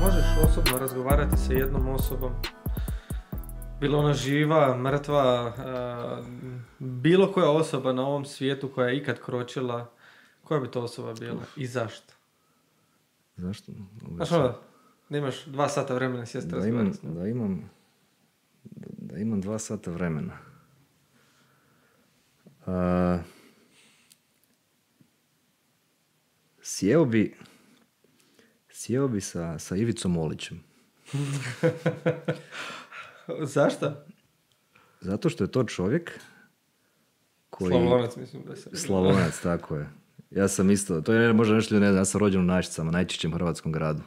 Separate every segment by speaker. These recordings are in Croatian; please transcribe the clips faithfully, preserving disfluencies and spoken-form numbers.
Speaker 1: možeš osobno razgovarati sa jednom osobom, bilo ona živa, mrtva, bilo koja osoba na ovom svijetu koja je ikad kročila, koja bi to osoba bila i zašto?
Speaker 2: Zašto?
Speaker 1: Znaš ono, da imaš dva sata vremena sjesti razgovarati.
Speaker 2: Da imam, da imam dva sata vremena. Uh, sjeo bi sjeo bi sa, sa Ivicom Olićem.
Speaker 1: Zašto?
Speaker 2: Zato što je to čovjek koji...
Speaker 1: Slavonac, mislim da se...
Speaker 2: Slavonac, tako je. Ja sam isto, to je možda nešto, ne znam, ja sam rođen u Našicama, najčišćem hrvatskom gradu.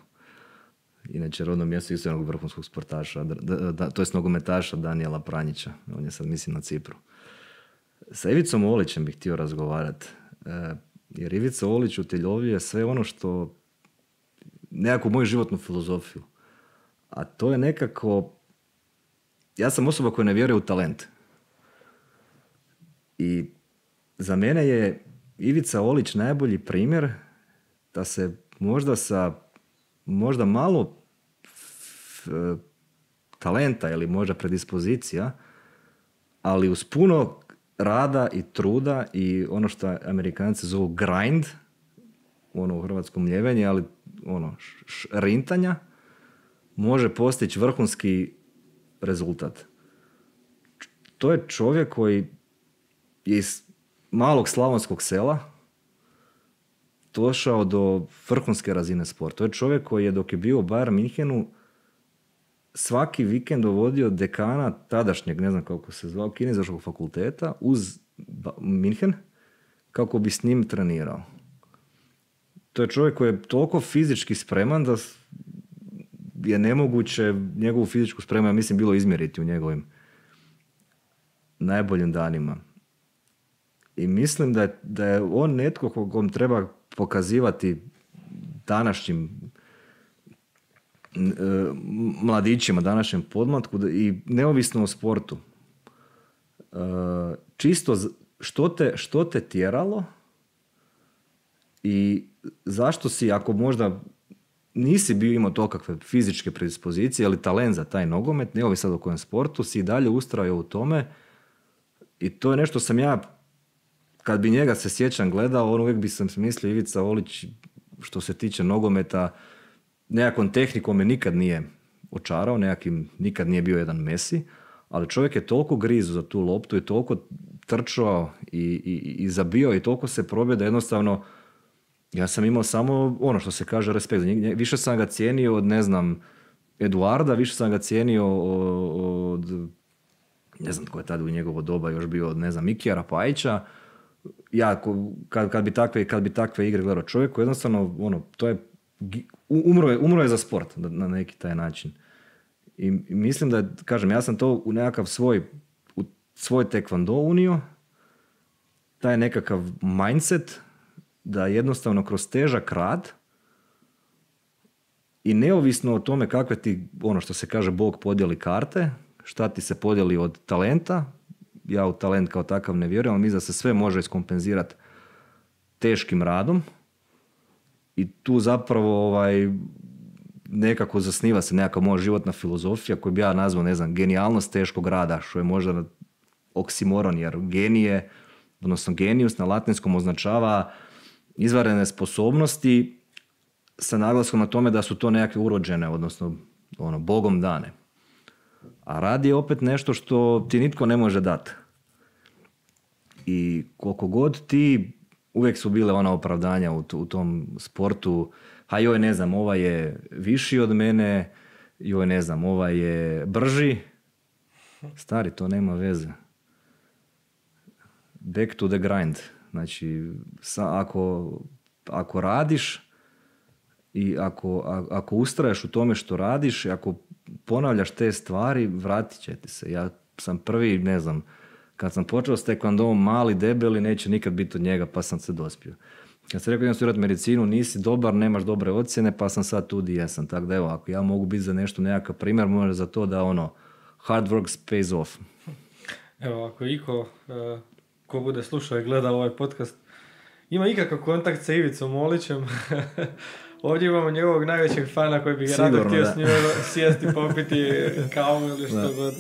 Speaker 2: Inače, rodno mjesto isto jednog vrhunskog sportaša, da, da, to je nogometaša Danijela Pranjića. On je sad, mislim, na Cipru. Sa Ivicom Olićem bih htio razgovarati. E, jer Ivica Olić utjelovljuje sve ono što... nekakvu moju životnu filozofiju. A to je nekako... Ja sam osoba koja ne vjeruje u talent. I za mene je Ivica Olić najbolji primjer da se možda sa možda malo f, talenta ili možda predispozicija, ali uz puno rada i truda i ono što Amerikanci zovu grind, ono u hrvatskom ljevenje, ali ono š, rintanja, može postići vrhunski rezultat. To je čovjek koji je iz malog slavonskog sela došao do vrhunske razine sporta. To je čovjek koji je dok je bio u Bayern Minhenu svaki vikend dovodio dekana tadašnjeg, ne znam kako se zvao, kineziološkog fakulteta uz Minhen kako bi s njim trenirao. To je čovjek koji je toliko fizički spreman da je nemoguće njegovu fizičku spremu, ja mislim, bilo izmjeriti u njegovim najboljim danima. I mislim da je, da je on netko kogom treba pokazivati današnjim e, mladićima, današnjem podmlatku da, i neovisno o sportu. E, čisto što te, što te tjeralo i zašto si, ako možda nisi bio imao to kakve fizičke predispozicije ili talent za taj nogomet, ne ovi sad o kojem sportu, si i dalje ustrajao u tome i to je nešto sam ja, kad bi njega se sjećam gledao, on uvijek bi sam mislio Ivica Olić, što se tiče nogometa, nekakvom tehnikom me nikad nije očarao, nekakvim, nikad nije bio jedan Messi, ali čovjek je toliko grizu za tu loptu i toliko trčao i, i, i zabio i toliko se probio da jednostavno ja sam imao samo ono što se kaže respekt. Više sam ga cijenio od, ne znam, Eduarda, više sam ga cijenio od, ne znam tko je tada u njegovo doba još bio, od, ne znam, Mikija Rapajića. Ja, kad, kad, bi takve, kad bi takve igre gledao čovjeku, jednostavno, ono, to je, umro je, umro je za sport na neki taj način. I, i mislim da, kažem, ja sam to u nekakav svoj, u svoj tekvando unio, taj nekakav mindset, da jednostavno kroz težak rad i neovisno o tome kakve ti, ono što se kaže, Bog podijeli karte, šta ti se podijeli od talenta, ja u talent kao takav ne vjerujem, ali mislim da se sve može iskompenzirati teškim radom i tu zapravo ovaj, nekako zasniva se nekakva moja životna filozofija koju bi ja nazvao, ne znam, genijalnost teškog rada, što je možda oksimoron, jer genije, odnosno genius na latinskom označava izvanredne sposobnosti sa naglaskom na tome da su to nekakve urođene, odnosno ono, Bogom dane. A rad je opet nešto što ti nitko ne može dati. I koliko god ti, uvijek su bile ona opravdanja u, u tom sportu, a joj ne znam, ovaj je viši od mene, joj ne znam, ovaj je brži. Stari, to nema veze. Back to the grind. Znači, sa, ako, ako radiš i ako, a, ako ustraješ u tome što radiš, ako ponavljaš te stvari, vratit će ti se. Ja sam prvi, ne znam, kad sam počeo s tekvandom, mali, debeli, neće nikad biti od njega, pa sam se dospio. Kad sam rekao idem studirati medicinu, nisi dobar, nemaš dobre ocjene, pa sam sad tu di jesam. Tako da evo, ako ja mogu biti za nešto nekakav primjer, možda za to da ono, hard work pays off.
Speaker 1: Evo, ako iko... Uh... ko bude slušao i gledao ovaj podcast, ima ikakav kontakt sa Ivicom Olićem, Ovdje imamo njegovog najvećeg fana koji bi ga rado htio s njima sjesti, popiti kavu ili što god.